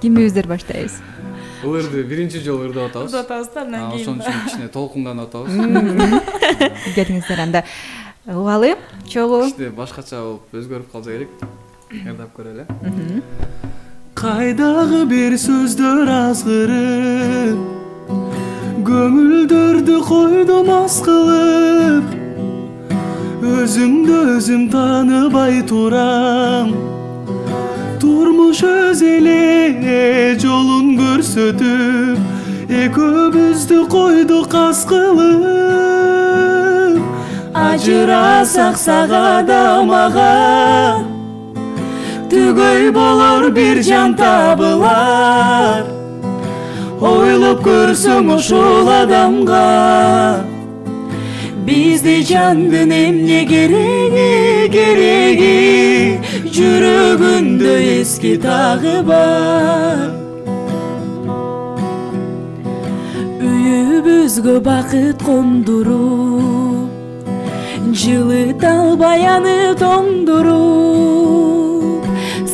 Кимибиздер баштайбыз? Ырды биринчи жолу ырдап атабыз. Ырдап атабыз да, андан кийин. Ошон үчүн кичине толкунданып атабыз. Келиңиздер анда. Убалы, чогуу. Иште башкача болуп өзгөрүп калса керек. Ырдап көрөлү. Кайдагы бир сөздөр азгырып, көңүлдөрдү койдум аз кылып, өзүмдү өзүм тааныбай турам. Турмуш өз эле жолун көрсөтүп, экөөбүздү койдук аз кылып. Ажырасак сага да мага, түгөй болор бир жан табылар. Ойлоп көрсөң ушул адамга, бизде жандын эмне кереги, жүрөгүндө эски тагы бар. Үйүбүзгө бакыт кондуруп, жылыт албай аны тоңдуруп,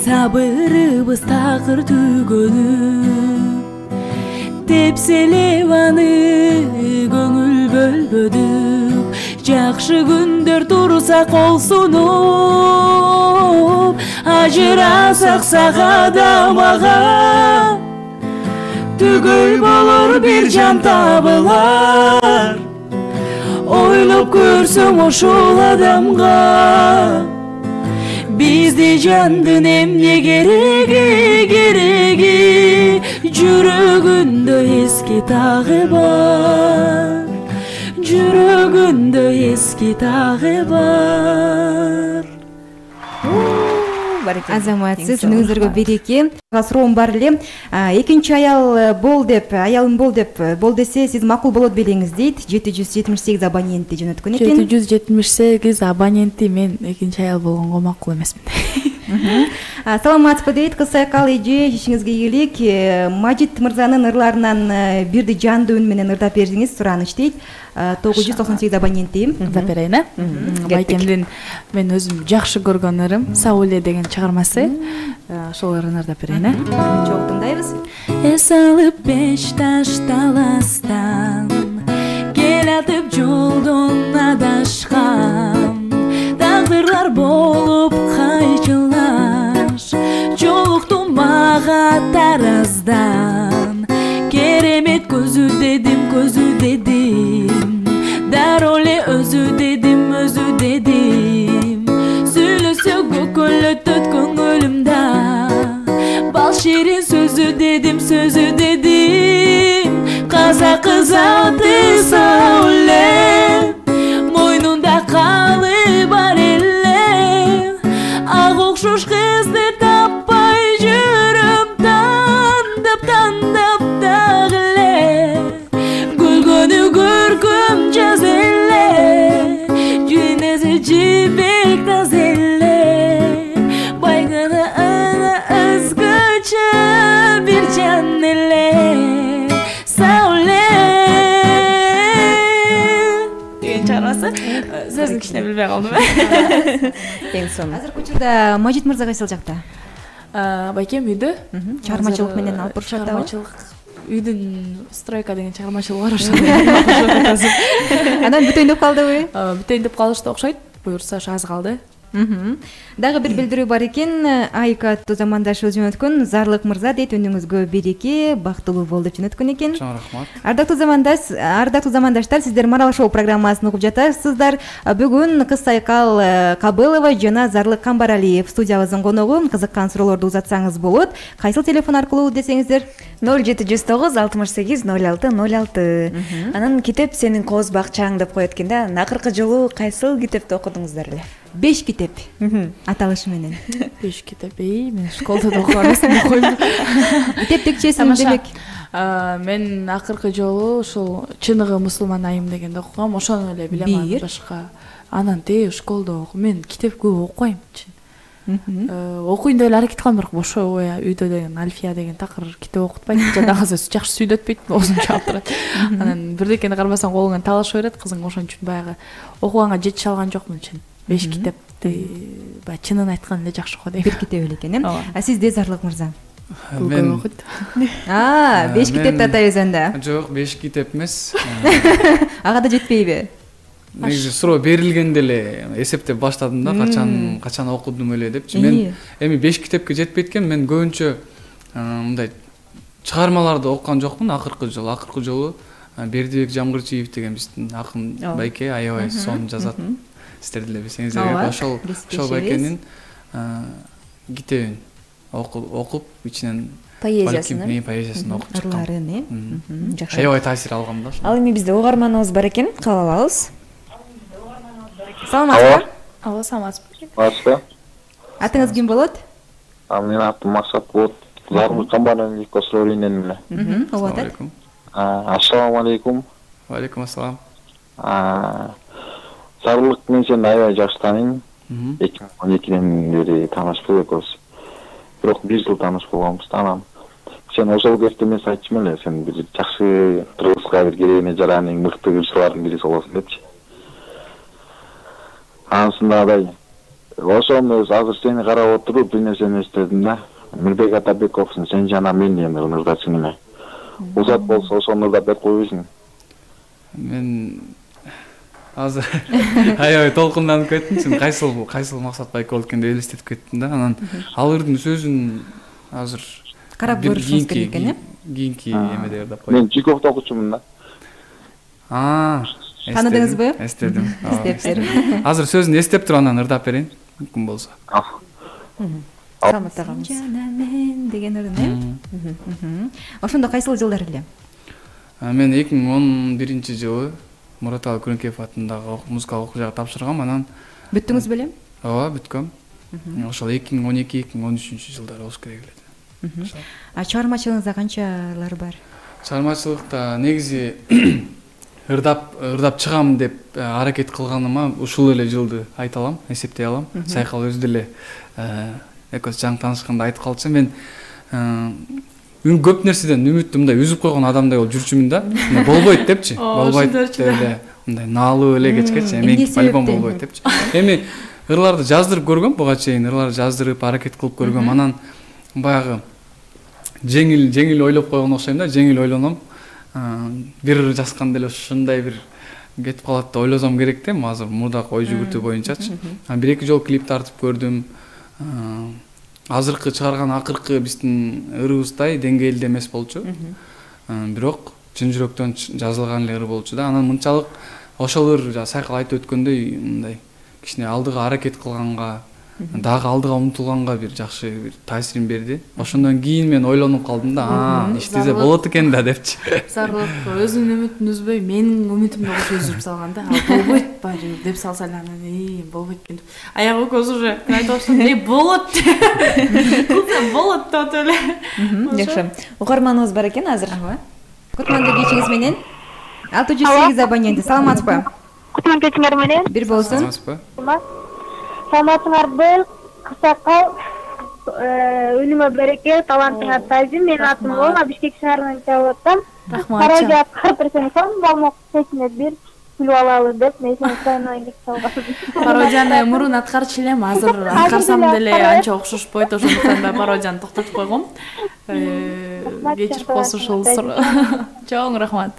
сабырыбыз такыр түгөнүп, тепселеп аны көңүл бөлбөдүк. Жакшы күндөр турса кол сунуп, ажырасак сага да мага, түгөй болор бир жан табылар. Ойлоп көрсөң ушул адамга, бизде жандын эмне кереги, жүрөгүндө эски тагы бар. Жүрөгүндө эски тагы бар. Азаматсыз, өзүңүзгө береке. Суроом бар эле. Экинчи аялым бол деп, бол десе сиз макул болот белеңиз дейт. 778 абоненти жөнөткөн экен. 778 абоненти мен экинчи аял болгонго макул эмесмин. Саламатсызбы дейт кыз сайкал эже, ишиңизге ийгилик. Мажит мырзанын ырларынан бирди жандуу үн менен ырдап бериңиз, сураныч дейт. 998 абоненти. Ырдап берейин, Байкемдин мен өзүм жакшы көргөн ырым Сауле деген чыгармасы. Ошол ырын ырдап берейин. Чогуу тыңдайбыз. Эс алып беш ташталастан, келатып жолдон адашкан, тагдырлар болуп кайчылаш, жолукту мага тараздан. Керемет көзү дедим, дароо эле өзү дедим. Сүйлөсө көкөлөтөт көңүлүмдө, бал ширин сөзү дедим. Казакы заты Сауле, мойнунда калы бар эле, ак окшош кызды таппай жүрөм, тандап дагы эле. Күлгөнү көркөм жаз эле, жүнөсү жибек таз эле, байганы ана өзгөчө бир жан эле. Сауле деген чыгармасы. Сөзүн кичине билбей калдым. Эң сонун. Азыркы учурда Мажит мырза кайсыл жакта? Байкем үйдө. Чыгармачылык менен алып барышат. Чыгармачылык үйдүн стройка деген чыгармачылыгы бар ошо. Анан бүтөйүн деп калдыбы? Бүтөйүн деп калышты окшойт. Буюрса ошо аз калды. Дагы бир билдирүү бар экен. Айка аттуу замандашы жөнөткөн Зарлык мырза дейт, өнүңүзгө береке, бактылуу бол деп жөнөткөн экен. Чоң рахмат. Ардактуу замандаштар, сиздер Марал шоу программасын угуп жатасыздар. Бүгүн кыз сайкал Кабылова жана Зарлык Камбаралиев студиябыздын коногу. Кызыккан суроолорду узатсаңыз болот. Кайсыл телефон аркылуу десеңиздер? 0709 68 06 06. Анан китеп сенин кооз бакчаң деп коет экен да. Акыркы жолу кайсыл китепти окудуңуздар эле? 5 китеп аталышы менен. 5 китеп. Мен школда да окуган эмесмин. Китеп текчесин демек. Мен акыркы жолу ушул Чыныгы мусулман айым дегенди окугам. Ошону эле билем, аны башка. Анан школда мен китеп көп окуйм. Окуйн деп эле аракет кылам, бирок бошо үйдө деген Альфия деген такыр китеп окутпайт. Жадагы жакшы сүйлөтпөйт, оозун чаап турат. Анан бирдекени кармасаң колуңан талашып берет, кызың ошон үчүн баягы окуганга жетише алган жокмун чын. 5 китепти баягы чынын айткан эле жакшы окуп дейм. Бир китеп эле экен, А сизде Зарлык мырза? Мен окуйт. 5 китепти атайбыз анда. жок, 5 китеп эмес. Ага да жетпейби? Негизи суроо берилгенде эле эсептеп баштадым да, качан окудум эле депчи. Мен эми 5 китепке жетпейт экен. Мен көбүнчө мындай чыгармаларды окуган жокмун акыркы жолу. Бердибек Жамгырчиев деген биздин акын байке аябай сонун жазат. Сиздер деле билсеңиздер керек. Ошол байкенин китебин окуп ичинен поэзиясын окуп чыккам. Жакшы. Аябай таасир алгам да. Ал эми бизде угарманыбыз бар экен, кабыл алабыз. Саламатсызбы? Алла саламатсызбы? Баска. Атыңыз ким болот? Менин атым Максат болот. Зарлык камбаралиев Косроринен эле. Ооба. Ассаламу алейкум. Ва алейкум ассалам. Зарлык мен сени аябай жакшы тааныйм. 2012-ден бери таанышпыз экөөбүз. Бирок 1 жыл тааныш болгонбуз, таанам. Сен ошол кезде эмес айтчым эле, сен бир жакшы Кыргызга бир керегине жараның мыкты кырчылардын бири болосуң депчи. Анысындагыдай. Ошону азыр сени карап отуруп бир нерсени эстедим да. Мирбек Атабековдун "Сен жана мен" деген ырдачың эле. Узат болсо ошону да берип койбойсуң. Мен азыр аябай толкунданып кеттим. Сен кайсыл Максат байке болот экен деп элестетип кеттим да. Анан ал ырдын сөзүн азыр Карап көрүшүңүз керек экен, э? Кийинки эмеде ырдап коеюн. Мен Чайковду окучумун да. Таныдыңызбы? Эстедим. Эстептир. Азыр сөзүн эстеп туруп анан ырдап берейин. Мүмкүн болсо. Саламат агамыз. Жана мен деген ырын, э? Ошондо кайсыл жылдар эле? Мен 2011 жылы Мураталы Күрөнкеев атындагы музыкалык окуу жайга тапшыргам. Анан Бүттүңүз белем? ооба, бүткөм. Ошол 2012-2013 жылдары болуш керек эле. Чыгармачылыгыңызда канчалар бар? Чыгармачылыкта негизи ырдап чыгам деп аракет кылганыма ушул эле жылды айта алам, эсептей алам. Сайкал өзү деле экөөбүз жаңы таанышканда айтып калчу. Мен көп нерседен үмүттү мындай үзүп койгон адамдай болуп жүрчүмүн да. Болбойт депчи. Болбойт деп эле мындай наалып эле кечкечи. Мен альбом болбойт депчи. Эми ырларды жаздырып көргөм, буга чейин ырларды жаздырып аракет кылып көргөм. Анан баягы жеңил ойлоп койгон окшойм да, жеңил ойлоном. Бир ыр жазганда эле ушундай бир кетип калат деп ойлосом керек да, азыр мурдак ой жүгүртүү боюнчачы. 1-2 жолу клип тартып көрдүм. Азыркы чыгарган акыркы биздин ырыбыздай деңгээлде эмес болчу. Бирок чын жүрөктөн жазылган эле ыр болчу да. Анан мынчалык ошол ыр сайкал айтып өткөндөй мындай кичине алдыга аракет кылганга, дагы алдыга умтулганга бир жакшы бир таасирин берди. Ошондон кийин мен ойлонуп калдым да, иштесе болот экен да депчи. Зарлык өзүнүн үмүтүн үзбөй, менин үмүтүмдү окуп үзүп салган да. Болбойт баары деп салса эле анан болбойт экен деп. Аягы көз уже айтып баштадым, болот. Кылсам болот деп эле. Жакшы. Угарманыбыз бар экен азыр. Кутманды кечиңиз менен 608 абоненти. Саламатсызбы? Кутман кечиңер менен. Бир болсун. Саламатсызбы? Саламатыңарбы? Кысакал өнүмө береке, талантыңар тазим. Менин атым Лола, Бишкек шаарынан чалып атам. Каражат кырпырсын балмок сечине бир күлүп алалы деп мен сени сайнайын деп салгам. Пародияны мурун аткарчу элем, азыр аткарсам деле анча окшошпойт, ошондуктан да пародияны токтотуп койгом. Кечирип коесуң ушул суроо. Чоң рахмат.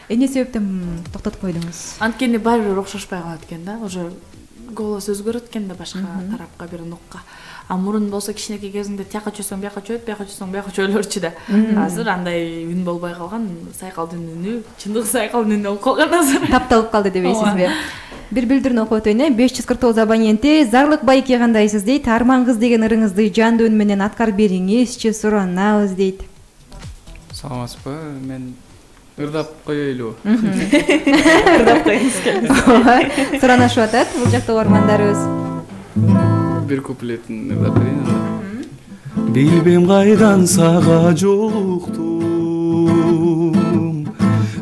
Эмне себептен токтотуп койдуңуз? Анткени баары бир окшошпой калат экен да, уже голос өзгөрөт экен да башка тарапка, бир нукка. А мурун болсо кичинекей кезинде тияка чөйсөң бияка чөйөт, бияка чөйсөң бияка чөйлөрчү да. Азыр андай үн болбой калган, сайкалдын үнү, чындык сайкалдын үнү болуп калган азыр. Тапталып калды дебейсизби? Бир билдирүүнү окуп өтөйүн. 549 абоненти. Зарлык байке кандайсыз дейт. Арман кыз деген ырыңызды жандуу үн менен аткарып бериңизчи, суранабыз дейт. Саламатсызбы? Мен ырдап коелу. Ырдап коюңуз келет. Суранашып атат бул жакта угармандарыбыз. Бир куплетин ырдап берейин анда. Билбем кайдан сага жолуктум,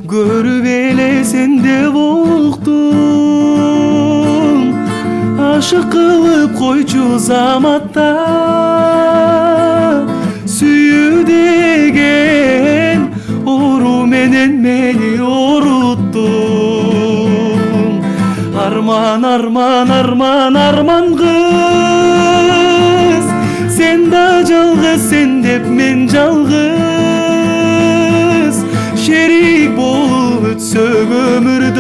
көрүп эле сенде уктум, ашык кылып койчу заматта, сүйүү деген ору менен мени оруттум. Арман, арман, арман, арман кыз, сен да жалгыз сен деп мен жалгыз шерик болуп өтсөк өмүрдөн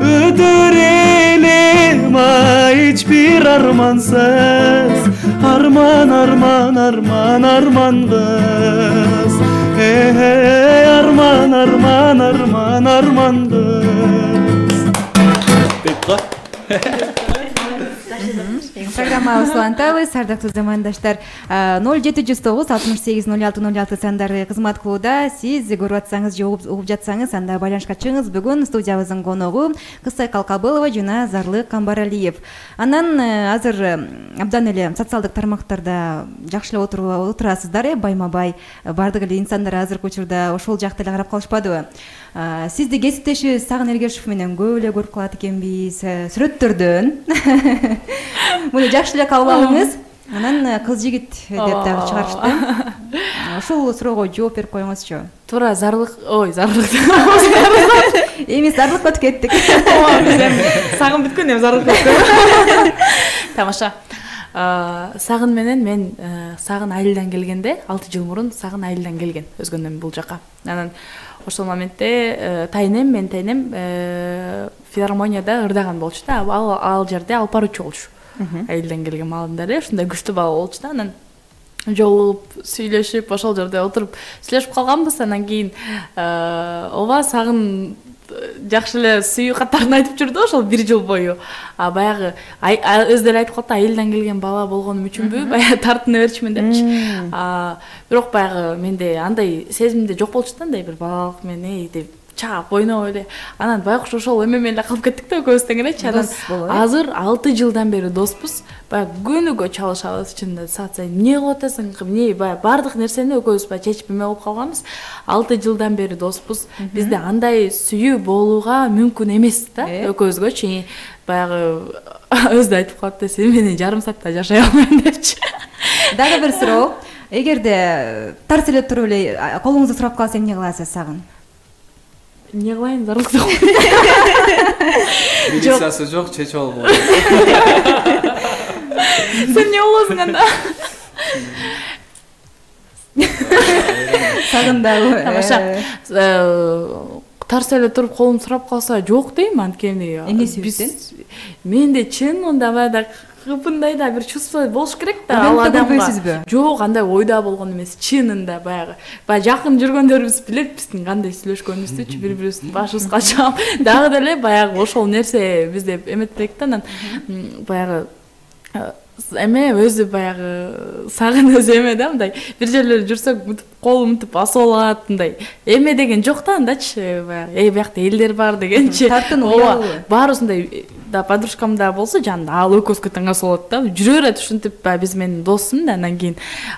өтөр элем эч бир армансыз арман арман арман арман кыз арман арман арман арман кыз деп го. Программабыз улантабыз, ардактуу замандаштар. 0709 68 06 06 сандары кызмат кылууда. Сиз көрүп атсаңыз же угуп жатсаңыз, анда байланышка чыгыңыз. Бүгүн студиябыздын коногу Кызсайкал Кабылова жана Зарлык Камбаралиев. Анан азыр абдан эле социалдык тармактарда жакшы эле отурасыздар, байма-бай. Бардык эле инсандар азыркы учурда ошол жакта эле карап калышпадыбы? Сизди кесиптешибиз Сагын Эргешев менен көп эле көрүп калат экенбиз, сүрөттөрдөн. Муну жакшы эле кабыл алыңыз. Анан кыз жигит деп дагы чыгарышты. Ошол суроого жооп берип коюңузчу. Туура Зарлык, Зарлык. Эмес, Зарлыкка өтүп кеттик. Сагын бүткөн, эми Зарлык. Тамаша. Сагын менен мен Сагын айылдан келгенде, 6 жыл мурун Сагын айылдан келген өзгөндөн бул жака. Анан ошол моментте мен тайнем филармонияда ырдаган болчу да. Ал жерде алып баруучу болчу. Айылдан келген маалында эле ушундай күчтүү бала болчу да. Анан жолугуп, сүйлөшүп, ошол жерде отуруп сүйлөшүп калганбыз. Анан кийин ооба Сагын жакшы эле сүйүү каттарын айтып жүрдү ошол 1 жыл бою. Баягы өзү деле айтып калды, айылдан келген бала болгонум үчүнбү, баягы тартына берчүмүн депчи. Бирок баягы менде андай сезимде жок болчу да, андай бир балалык менен деп чаап ойноп эле. Анан байкуш ошол эме эле калып кеттик да экөөбүз теңиречи. Анан азыр 6 жылдан бери доспуз. Баягы күнүгө чалышабыз чынында. Саат сайын эмне кылып атасың? Эмне баягы бардык нерсени экөөбүз баягы чечип эме кылып калганбыз. 6 жылдан бери доспуз. Бизде андай сүйүү болууга мүмкүн эмес да экөөбүзгөчү. Баягы өзү айтып калат да, сен менен жарым саатта жашай албайм депчи. Дагы бир суроо. Эгерде тарс эле туруп эле колуңузду сурап калса эмне кыласыз Сагын? Эмне кылайын, Зарлыкты? Милициясы жок, чечип алып болот. Сен эмне болосуң анда? Сагын дагы. Тамаша. Тарс эле туруп колум сурап калса жок дейм, анткени эмне себептен? Менде чын онда баягы кыпындай да бир чувство болуш керек да ал адамга. Жок, андай ойда болгон эмес, чынында баягы жакын жүргөндөрүбүз билет биздин кандай сүйлөшкөнүбүздүчү, бири-бирибиздин башыбызга чаап. Дагы деле баягы ошол нерсе бизде эметпек да. Анан баягы эме өзү баягы Сагын өзү эме да, мындай бир жерлерде жүрсөк мынтип колум мынтип басып алат, мындай эме деген жок да андачы, баягы биякта элдер бар дегенчи. Ооба, баарысындай да, подружкам да болсо жанында ал экөөбүзгө таңгас болот да. Жүрө берет ушинтип, биз менин досум да. Анан кийин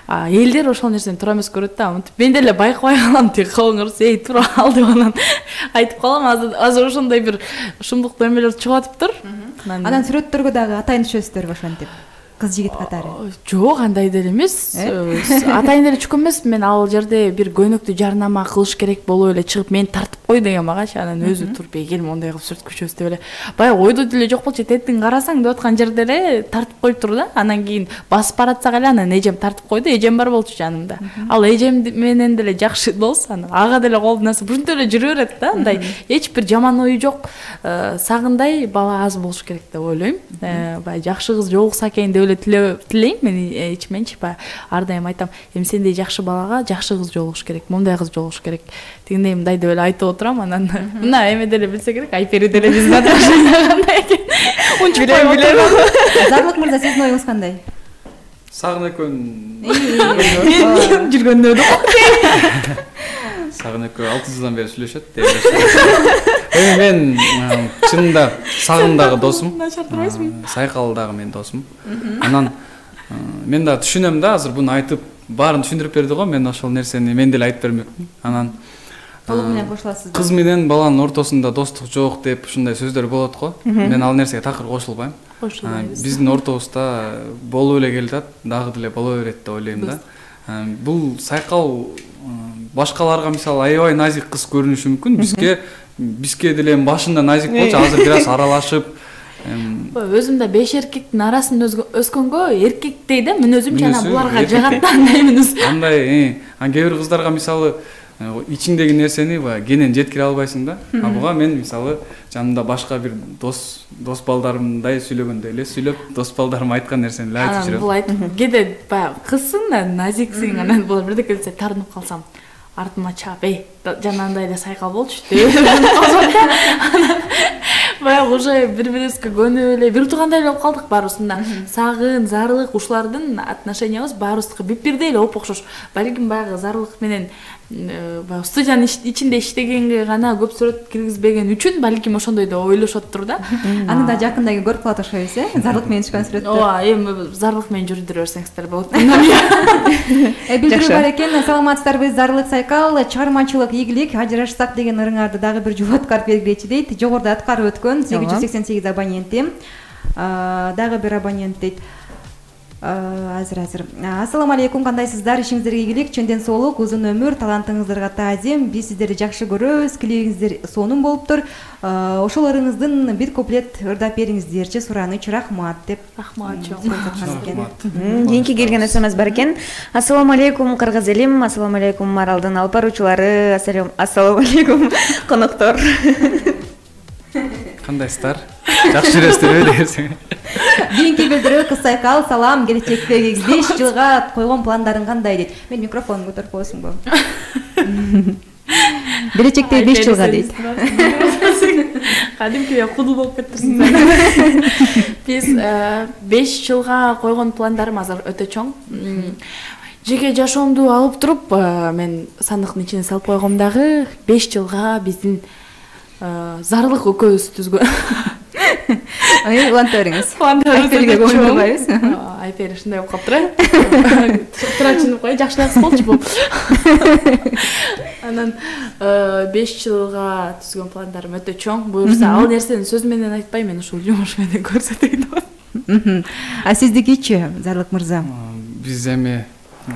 элдер ошол нерсени туура эмес көрөт да. Мынтип мен деле байкабай калам, тиги колуңурс туура ал деп анан айтып калам. Азыр ошондой бир шумдуктуу эмелер чыгып атыптыр. Анан сүрөттөргө дагы атайын түшөсүздөр ошентип. Кыз жигит катары. Жок, андай деле эмес. Атайын деле чыккан эмес. Мен ал жерде бир көнөктүү жарнама кылыш керек болуп эле чыгып мени тартып кой деген магачы. Анан өзү туруп келип мондай кылып сүрөткүчүбүз деп эле. Баягы ойдо деле жок болчу. Тетиң карасаң деп аткан жерде эле тартып коюптур да. Анан кийин басып баратсак эле анан эжем тартып койду. Эжем бар болчу жанымда. Ал эжем менен деле жакшы дос. Анан ага деле колдун астында ушинтип эле жүрө берет да. Андай эч бир жаман ою жок. Сагындай бала аз болуш керек деп ойлойм. Баягы жакшы кыз жолукса экен деп тилейм мен ичименчи. Ар дайым айтам, эми сендей жакшы балага жакшы кыз жолугуш керек, мондай кыз жолугуш керек. Тигиндей мындай деп эле айтып отурам. Анан мына эме деле билсе керек, Айпери деле биздин отношения кандай экен. Унчуп билем. Зарлык мырза, сиздин оюңуз кандай? Сагын экөөнүн жүргөндө Сагын экөө 6 жылдан бери сүйлөшөт деп. Эми мен чынында Сагын дагы досум. Сайкал дагы менин досум. Анан мен да түшүнөм да, азыр буну айтып баарын түшүндүрүп берди го. Мен ошол нерсени мен деле айтып бермекмин. Анан толук менен кошуласыз. Кыз менен баланын ортосунда достук жок деп ушундай сөздөр болот го. Мен ал нерсеге такыр кошулбайм. Биздин ортобузда болуп эле келатат, дагы деле боло берет деп ойлойм да. Бул Сайкал башкаларга мисалы аябай назик кыз көрүнүшү мүмкүн. Бизге деле башында назик болчу, азыр бир аз аралашып өзүм да 5 эркектин арасында өскөнгө эркектей да мүнөзүмчү анан буларга жагат да андай мүнөз. Андай, кээ бир кыздарга мисалы ичиңдеги нерсени баягы кенен жеткире албайсың да. А буга мен мисалы жанымда башка бир дос балдарымдай сүйлөгөндөй эле сүйлөп, дос балдарым айткан нерсени эле айтып жүрөм. Бул айтып кээде баягы кызсың да, назиксиң, анан булар бирдеке десе тартынып калсам, артыма чаап, жанагындай эле сайкал болчу деп. Баягы уже бири-бирибизге көнүп эле бир туугандай эле болуп калдык баарыбызда. Сагын, зарлык ушулардын отношениябыз баарыбызга бип-бирдей эле оп-окшош. Балким баягы зарлык менен баягы студиянын ичинде иштегенге гана көп сүрөт киргизбеген үчүн балким ошондой деп ойлошоттур да. Аны да жакында көрүп калат окшойбуз, зарлык менен түшкөн сүрөттөр. Ооба, эми зарлык менен жүрдүрө берсеңиздер болот. Билдирүү бар экен. Саламатсыздарбы, зарлык сайкал, чыгармачылык ийгилик, ажырашсак деген ырыңарды дагы бир жубаткар белгилечи дейт. Жогоруда аткарып өткөн 888 абоненти. Дагы бир абонент дейт. Азыр. Ассаламу алейкум, кандайсыздар? Ишиңиздерге ийгилик, чөндөн соолук, узун өмүр, талантыңыздарга таазим. Биз сиздерди жакшы көрөбүз, клибиңиздер сонун болуптур. Ошол ырыңыздын бир куплет ырдап бериңиздерчи, сураныч, рахмат деп. Рахмат. Кийинки келген смс бар экен. Ассаламу алейкум, кыргыз элим. Ассаламу алейкум, Маралдын алып баруучулары. Ассаламу алейкум, коноктор. Кандайсыздар? Жакшы жүрөсүзбү десең. Кийинки билдирүү кыз сайкал, салам, келечектеги 5 жылга койгон пландарың кандай дейт. Мен микрофонду көтөрүп коесуңбу? Келечектеги 5 жылга дейт. Кадимки кудул болуп кетирсиң. Биз 5 жылга койгон пландарым азыр өтө чоң. Жеке жашоомду алып туруп, мен сандыктын ичине салып койгом дагы 5 жылга биздин зарлык экөөбүз түзгөн. Уланта бериңиз. Айперге көңүл бурбайбыз. Айпер ушундай болуп калыптыр. Турачын кой, жакшылап болчу бул. Анан 5 жылга түзгөн пландарым өтө чоң. Буюрса, ал нерсени сөз менен айтпайм, мен ушул жумуш менен көрсөтөйүн деп. А сиздикичи, Зарлык мырза? Биз эми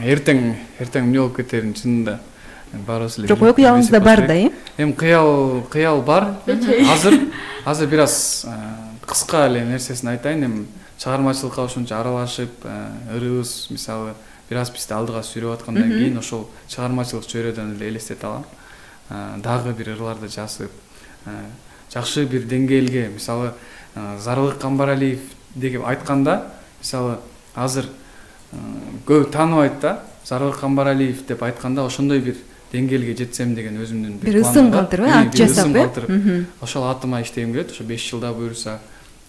эртең эмне болуп кетерин чынында баарыбыз эле. Жок, кыялыңызда бар да, Эми кыял бар. Азыр бир аз кыска эле нерсесин айтайын. Эми чыгармачылыкка ошончо аралашып, ырыбыз мисалы бир аз бизди алдыга сүйрөп аткандан кийин ошол чыгармачылык чөйрөдөн эле элестете алам. Дагы бир ырларды жазып, жакшы бир деңгээлге, мисалы Зарлык Камбаралиев деп айтканда, мисалы азыр көп тааныбайт да. Зарлык Камбаралиев деп айтканда ошондой бир деңгээлге жетсем деген өзүмдүн бир сын калтырып, ат жасап, ошол атыма иштегим келет. Ошо 5 жылда буюрса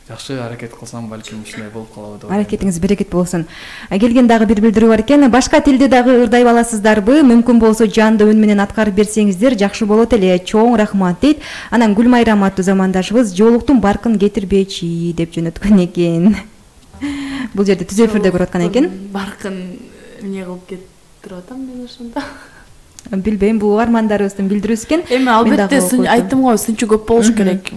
жакшы аракет кылсам, балким ушундай болуп калабы деп. Аракетиңиз берекет болсун. Келген дагы бир билдирүү бар экен. Башка тилде дагы ырдай аласыздарбы? Мүмкүн болсо жандуу үн менен аткарып берсеңиздер жакшы болот эле. Чоң рахмат дейт. Анан Гүлмайрам аттуу замандашыбыз жоолуктун баркын кетирбечи деп жөнөткөн экен. Бул жерде түз эфирде көрүп аткан экен. Баркын эмне кылып кетирип атам мен ошондо. Билбейм, бул армандарыбыздын билдирүүсү экен. Эми албетте айттым го, сынчу көп болуш керек.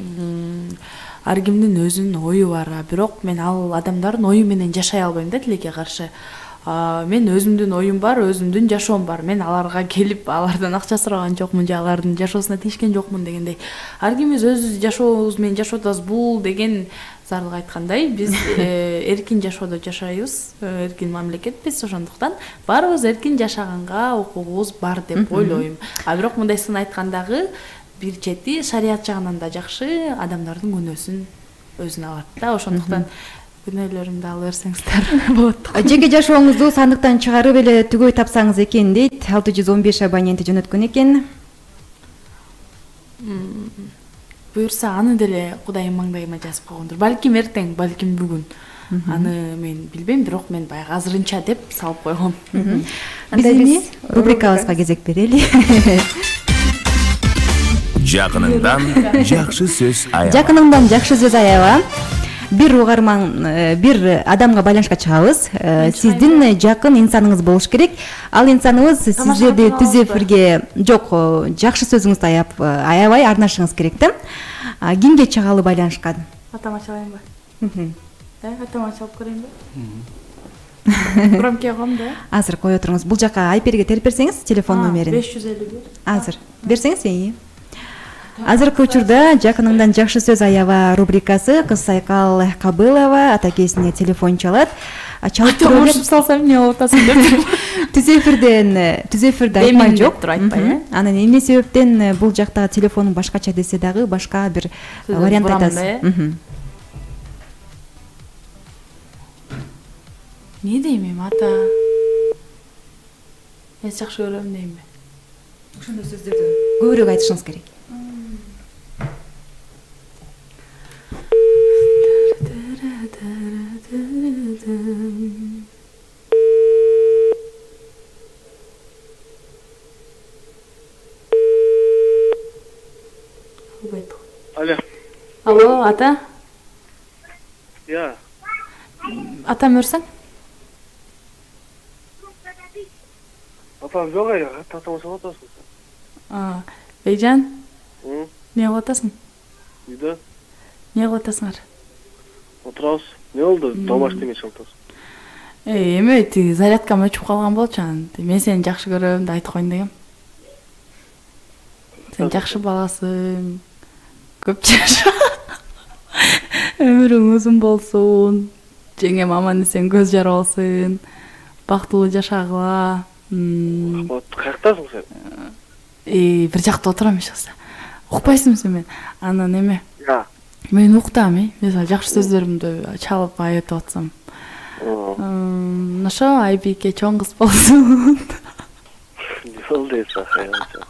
Ар кимдин өзүнүн ою бар, бирок мен ал адамдардын ою менен жашай албайм да, тилекке каршы. Мен өзүмдүн оюм бар, өзүмдүн жашоом бар. Мен аларга келип, алардан акча сураган жокмун, же алардын жашоосуна тийишкен жокмун дегендей. Ар кимибиз өз жашообуз менен жашап атабыз. Бул деген Зарлык айткандай, биз эркин жашоодо жашайбыз, эркин мамлекетпиз, ошондуктан баарыбыз эркин жашаганга укугубуз бар деп ойлойм. Бирок мындай сын айткандагы бир чети шарият жагынан да жакшы, адамдардын күнөөсүн өзүнө алат да, ошондуктан күнөөлөрүмдү алып берсеңиздер болот. Жеке жашооңузду сандыктан чыгарып эле түгөй тапсаңыз экен дейт. 615 абоненти жөнөткөн экен. Буюрса, аны деле Кудайым маңдайыма жазып койгондур. Балким эртең, балким бүгүн. Аны мен билбейм, бирок мен баягы азырынча деп салып койгом. Биздин рубрикабызга кезек берели. Жакыныңдан жакшы сөз аяба. Жакыныңдан жакшы сөз аяба. Бир угарман, бир адамга байланышка чыгабыз. Сиздин жакын инсаныңыз болуш керек. Ал инсаныбыз сиздерди түз эфирге жок, жакшы сөзүңүздү аябай арнашыңыз керек да. Кимге чыгалы байланышка? Атама чалайынбы? Атама чалып көрөйүнбү? Громкий койгом да. Азыр кое туруңуз. Бул жака Айперге терип берсеңиз телефон номерин. 551. Азыр берсеңиз. Азыркы учурда жакыныңдан жакшы сөз аябаа рубрикасы кыз Сайкал Кабылова атакесине телефон чалат. Чалып турып салсам эмне болуп атасың деп. Түз эфирде айтмай жок. Анан эмне себептен бул жакта телефонун башкача десе дагы башка бир вариант айтасыз. Не дейм ата? Мен жакшы көрөм дейм. Ошондой сөздөрдү көбүрөөк айтышыңыз керек. Алло, ата? Я. Атам өрсөң? Атам жок ай, татам салып атасың. Бейжан? Не кылып атасың? Үйдө. Не кылып атасыңар? Отурабыз. Не болду? Домашний эмне чалып атасың? Эме тиги зарядкам өчүп калган болчу анан. Мен сени жакшы көрөм деп айтып коеюн дегем. Сен жакшы баласың. Көп жаша. Өмүрүң узун болсун. Жеңем аман эсен көз жаралсын. Бактылуу жашагыла. Каяктасың сен? Бир жакта отурам эч кылса. Укпайсыңбы сен мен? Анан эме? Мен уктам, мисалы жакшы сөздөрүмдү чалып айтып атсам. Ошо Айбике чоң кыз болсун. Жол дейсиң, аянча.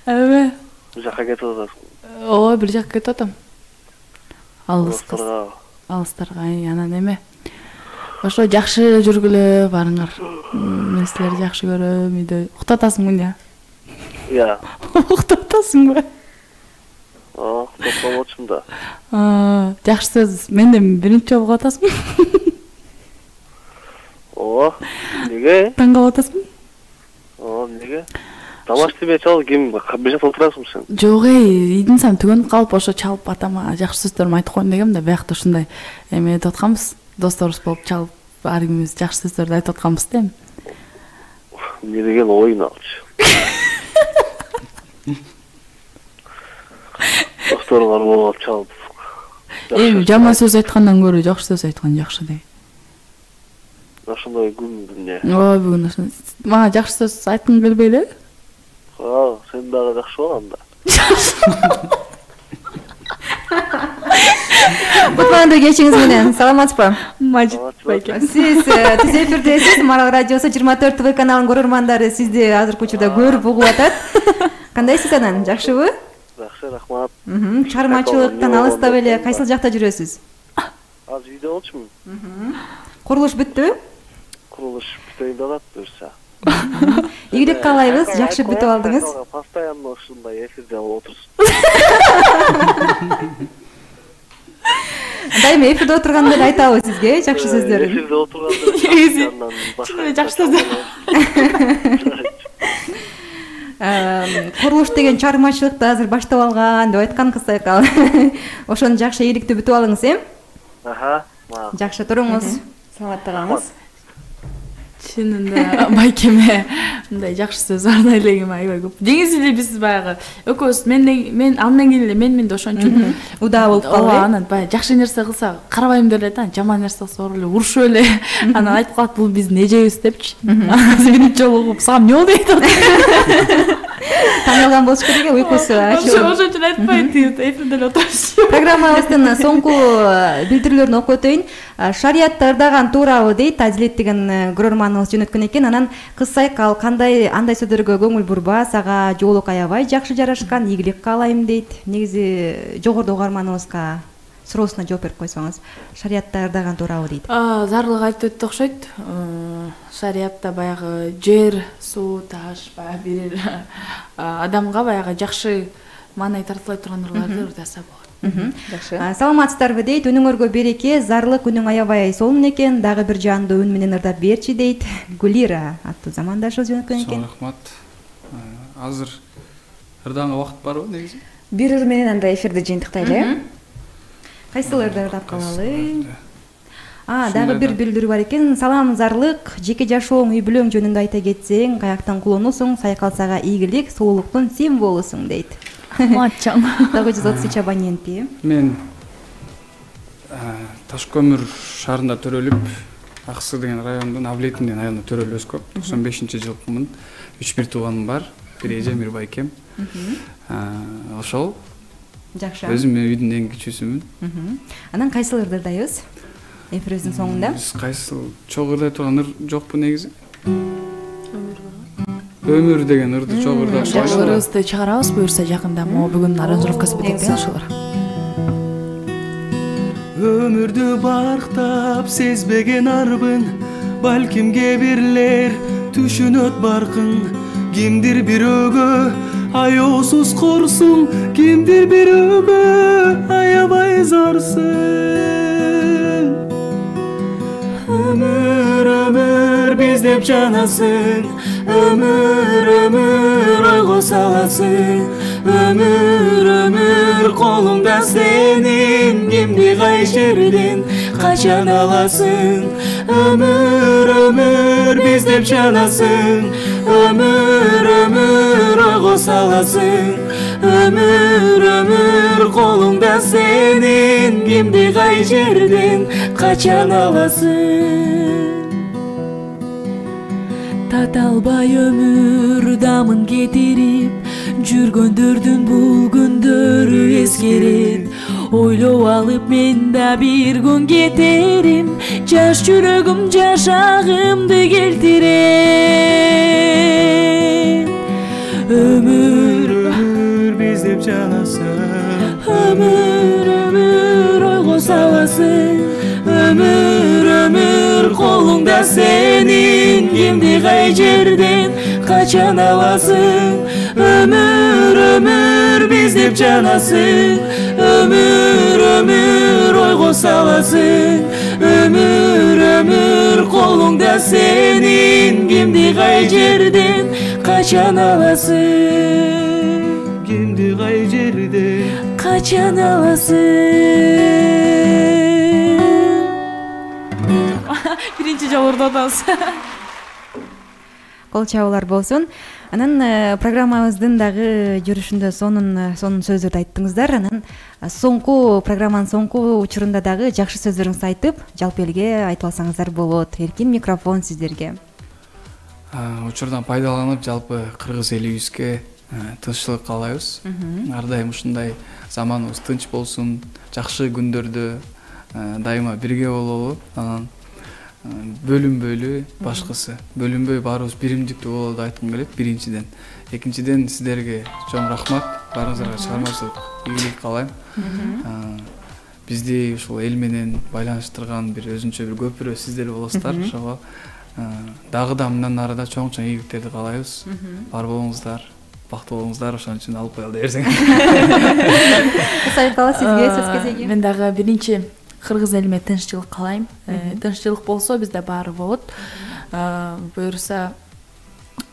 Эме? Бир жакка кетип атасың. Ооба, бир жакка кетип атам. Алыс кыз. Алыстарга, анан эме? Ошо жакшы жүргүлө барыңар. Мен силерди жакшы көрөм, үйдө. Уктатасыңбы эмне? Я. Уктатасыңбы? Уктатпакчымын да. Жакшы сөз менден биринчи жолу кылып атасыңбы? Ооба. Неге? Таң калып атасыңбы? Неге? Домашний эмне чалып ким? Бир жакта отурасың сен? Жок, ийдин сам түгөнүп калып ошо чалып атама жакшы сөздөрүмдү айтып коеюн дегем да, биякта ушундай эме этип атканбыз. Досторубуз болуп чалып ар кимибиз жакшы сөздөрдү айтып атканбыз да эми. Не деген оюн алчы. Досторуңар болуп чалып. Эми жаман сөз айткандан көрө жакшы сөз айткан жакшы дейм. Ошондой күн эмне? Ооба, бүгүн ошондой. Мага жакшы сөз айткың келбейби? Сен дагы жакшы бол анда. Утмандуу кечиңиз менен саламатсызбы? Мажит байке. Сиз Түз эфирдесиз. Марал радиосу 24 ТВ каналынын көрөрмандары сизди азыркы учурда көрүп угуп атат. Кандайсыз анан? Жакшыбы? Жакшы, рахмат. Чыгармачылыктан алыстап эле кайсыл жакта жүрөсүз? Азыр үйдө болчумун. Курулуш бүттүбү? Курулуш бүтөйүн деп атат буюрса. Ийгилик каалайбыз, жакшы бүтүп алдыңыз. Постоянно ушундай эфирде отурсуз. Дайыма эфирде отурганда эле айтабыз сизге жакшы сөздөрдү. Эфирде отурганда жакшы сөздөр. Курулуш деген чыгармачылыкты азыр баштап алган деп айткан кыз Сайкал. Ошону жакшы ийгиликтүү бүтүп алыңыз, Жакшы туруңуз. Саламаттыгыңыз. Чынында байкеме мындай жакшы сөз арнай элегим аябай көп. Деңиз эле биз баягы экөөбүз мен андан кийин эле мен ошончун удаа болуп калды. Анан баягы жакшы нерсе кылса карабайм деп эле да, жаман нерсе кылса оор эле урушуп эле. Анан айтып калат, бул биздин эжебиз депчи. Биринчи жолу угуп, сага эмне болду дейт. Таң калган болуш керек, уйкусу ачылып. Ошончун айтпайт, эфирде эле отурабыз. Программабыздын соңку билдирүүлөрүн окуп өтөйүн. Шариятты ырдаган туурабы дейт, Адилет деген көрөрманыбыз жөнөткөн экен. Анан кыз Сайкал андай сөздөргө көңүл бурба, сага жоолук аябай жакшы жарашкан, ийгилик каалайм дейт. Негизи жогоруда угарманыбызга суроосуна жооп берип койсоңуз, шариятты ырдаган туурабы дейт. Зарлык айтып өттү окшойт. Шариятта баягы жер, суу, таш, баягы бир адамга баягы жакшы маанай тартылай турган ырларды ырдаса болот. Жакшы. Саламатсыздарбы дейт. Үнүңөргө береке, зарлык үнүң аябай сонун экен, дагы бир жандуу үн менен ырдап берчи дейт. Гулира аттуу замандашыбыз жөнөткөн экен. Рахмат. Азыр ырдаганга убакыт барбы негизи? Бир ыр менен анда эфирди жыйынтыктайлы. Кайсыл ырды ырдап калалы? Дагы бир билдирүү бар экен. Салам Зарлык, жеке жашооң, үй бүлөң жөнүндө айта кетсең, каяктан кулунусуң, сайкалсага ийгилик, сулуулуктун символусуң дейт. Матчаң. 933 абоненти. Мен Таш көмүр шаарында төрөлүп, Аксы деген райондун Авлетин деген айылында төрөлүп өскөм. 95-жылкымын. 3 тууганым бар. Бир эже, бир байкем. Ошол. Жакшы. Өзүм үйдүн эң кичүүсүмүн. Анан кайсыл ырдырдайбыз? Эфирибиздин соңунда. Биз кайсыл чогуу ырдай турган ыр жокпу негизи? Өмүр деген ырды чогуу ырдап Жакшы, ырыбызды чыгарабыз буюрса жакында. Могу бүгүн аранжировкасы бүтөт ошолор. Өмүрдү барктап сезбеген арбын, балким кээ бирлер түшүнөт баркың. Кимдир бирөөгө аяосуз корсуң, кимдир бирөөгө аябай зарсың. Өмүр, өмүр биз деп жанасың, өмүр, өмүр ойго саласың. Өмүр, өмүр колуңда сенин, кимди кай жерден качан аласың. Өмүр, өмүр биз деп жанасың, өмүр, өмүр ойго саласың. Өмүр, өмүр колуңда сенин, кимди кай жерден качан аласың. Таталбай өмүр дамын кетирип, жүргөндөрдүн бул күндөрү эскерет. Ойлоп алып мен да бир күн кетерим, жаш жүрөгүм жашагымды келтирет. Өмүр, өмүр биз деп жанасың, өмүр, өмүр ойго саласың. Өмүр, өмүр колуңда сенин, кимди кай жерден качан аласың. Өмүр, өмүр биз деп жанасың, өмүр, өмүр ойго саласың. Өмүр, өмүр колуңда сенин, кимди кай жерден качан аласың. Кимди кай жерден качан аласың. Биринчи жолу ырдатабыз. Кол чабуулар болсун. Анан программабыздын дагы жүрүшүндө сонун сөздөрдү айттыңыздар. Анан соңку программанын соңку учурунда дагы жакшы сөздөрүңүздү айтып, жалпы элге айтып алсаңыздар болот. Эркин микрофон сиздерге. Учурдан пайдаланып, жалпы кыргыз элибизге тынччылык каалайбыз. Ар дайым ушундай заманыбыз тынч болсун, жакшы күндөрдө дайыма бирге бололу. Анан бөлүнбөйлү, башкысы бөлүнбөй баарыбыз биримдиктүү бололу айткым келет биринчиден. Экинчиден сиздерге чоң рахмат, баарыңыздарга чыгармачылык ийгилик каалайм. Бизди ушул эл менен байланыштырган бир өзүнчө бир көпүрө сиздер болосуздар. Ошого дагы да мындан ары да чоң ийгиликтерди каалайбыз. Бар болуңуздар, бактылуу болуңуздар, ошон үчүн алып коелу десең. Сайкала сизге сөз кезеги. Мен дагы биринчи кыргыз элиме тынччылык каалайм. Тынччылык болсо бизде баары болот. Буюрса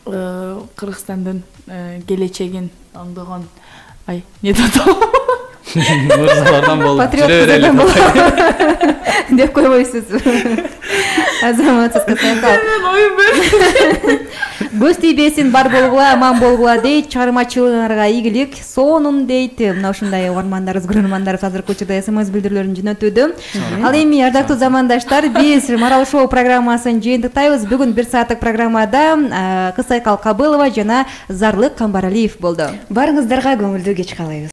Кыргызстандын келечегин оңдогон не татоо мырзалардан болуп патриоттардан болуп деп койбойсузбу? Азаматсызга сайкал. Көз тийбесин, бар болгула, аман болгула дейт. Чыгармачылыгыңарга ийгилик, сонун дейт. Мына ушундай угармандарыбыз, көрөрмандарыбыз азыркы учурда СМС билдирүүлөрүн жөнөтүүдө. Ал эми ардактуу замандаштар, биз Марал шоу программасын жыйынтыктайбыз. Бүгүн 1 сааттык программада Кыз Сайкал Кабылова жана Зарлык Камбаралиев болду. Барыңыздарга көңүлдүү кеч каалайбыз.